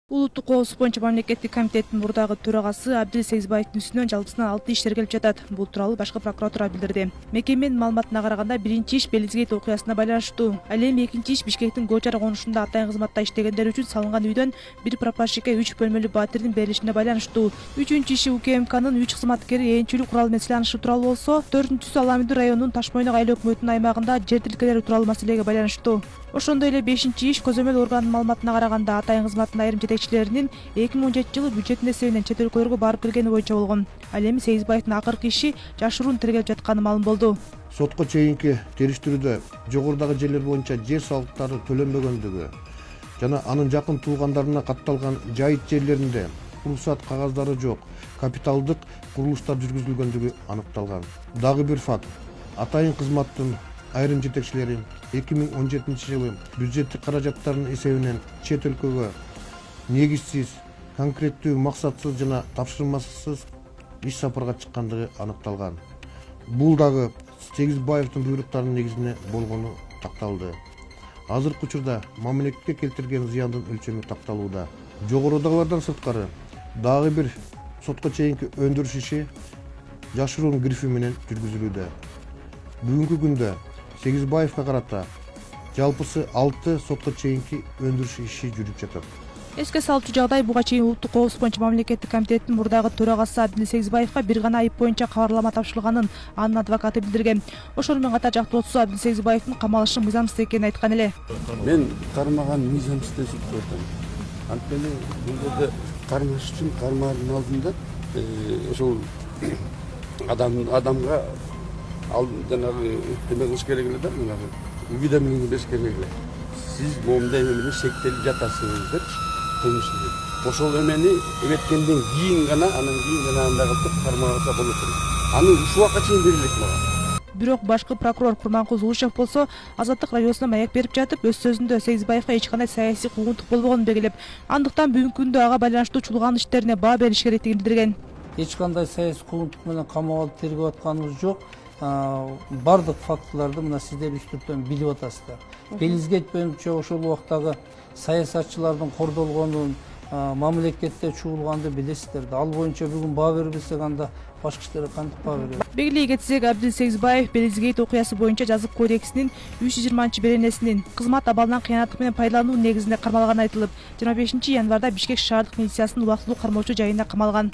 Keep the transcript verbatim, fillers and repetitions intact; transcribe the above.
Улуттук коопсуздук боюнча мамлекеттик комитеттин мурдагы төрагасы Абдил Сегизбаевдин үстүнөн жалпысынан алты ишкер келип жатат. Бул тууралуу башкы прокуратура билдирди. Мекеменин маалыматына караганда биринчи иш Белизгейт окуясына байланыштуу. Ал эми экинчи иш Бишкектин Гочар конушунда атайын кызматта иштегендер үчүн салынган үйдөн бир прапорщикке үч бөлмөлүү батирдин берилишине байланыштуу. Үчүнчү иши УКМКнын үч кызматкери ээлчилик куралы менен сыйланышы тууралуу болсо, төртүнчүсү Ала Аминдин районунун Таш Мойнок айыл өкмөтүнүн аймагында жер тилкелери тууралуу маселеге байланыштуу. Ошондой эле бешинчи иш көзөмөл органдын маалыматына караганда атайын кызматтын айрым жетекчилеринин эки миң он жетинчи жылы бюджеттин эсебинен чет өлкөлөргө барып келгени боюнча болгон. Ал эми Сегизбаевдин акыркы иши жашыруун тергелип жатканы маалым болду. Сотко чейинки териштирүүдө жогорудагы жерлер боюнча жер салыктары төлөнбөгөндүгү жана анын жакын туугандарына катталган жайыт жерлеринде уруксат кагаздары жок капиталдык курулуштар жүргүзүлгөндүгү аныкталган. Дагы бир факт: атайын кызматтын айрым жетекчилери эки миң он жетинчи жылы бюджеттик каражаттардын эсебинен чет өлкөгө негизсиз, конкреттүү, максатсыз жана тапшырмасыз иш сапарга чыккандыгы аныкталган. Бул дагы Сегизбаевдин буйруктарынын негизинде болгону такталды. Азыркы учурда мамлекетке келтирген зыяндын өлчөмү такталууда. Жогорудагылардан сырткары дагы бир сотко чейинки өндүрүш иши жашыруун грифи менен жүргүзүлүүдө. Бүгүнкү күндө Сегизбаевга карата жалпысы алты сотко чейинки өндүрүш иши жүрүп жатат. Эске салчу жагдай, буга чейин Улуттук коопсуздук боюнча мамлекеттик комитеттин мурдагы төрагасы Абдил Сегизбаевга бир гана айып боюнча кабарлама тапшырылганын анын адвокаты билдирген. Ошону менен катар жактоочусу Абдил Сегизбаевдин камалышы мыйзамсыз экенин айткан эле. Мен кармаган мыйзамсыз деп көрдүм. Анткени бул жерде кармаш үчүн кармаардын алдында ошол адам адамга ал жанагы эме кылыш керек эле да, жанагы уведомление бериш керек эле. Сиз момундай эме менен шектелип жатасыз деп кылмыш. Ошол эмени эметкенден кийин гана анан кийин жана андай кылып кармаса болот. Аны ушул убакка чейин берилет мага. Бирок башкы прокурор Курманкул Зулушев болсо Азаттык радиосуна маек берип жатып, өз сөзүндө Сегизбаевга эч кандай саясий куугунтук болбогонун белгилеп, андыктан бүгүнкү күндө ага байланыштуу чуулган иштерине баа бериш керектигин билдирген. Эч кандай саясий куугунтук менен камап алып тергеп атканыбыз жок. Бардык фактыларды мына сиздер үстүртөн билип атасыздар. Белизгейт боюнча ошол убактагы саясатчылардын кордолгонун, мамлекетте чуулганды билесиздер да. Ал боюнча бүгүн баа бербесек, анда башка иштерге кантип баа беребиз? Белгилей кетсек, Абдил Сегизбаев Белизгейт окуясы боюнча жазык кодексинин үч жүз жыйырманчы беренесинин кызмат абалынан кыянаттык менен пайдалануу негизинде кармалганы айтылып, жыйырма бешинчи январда Бишкек шаардык милициясынын убактылуу кармоочу жайына камалган.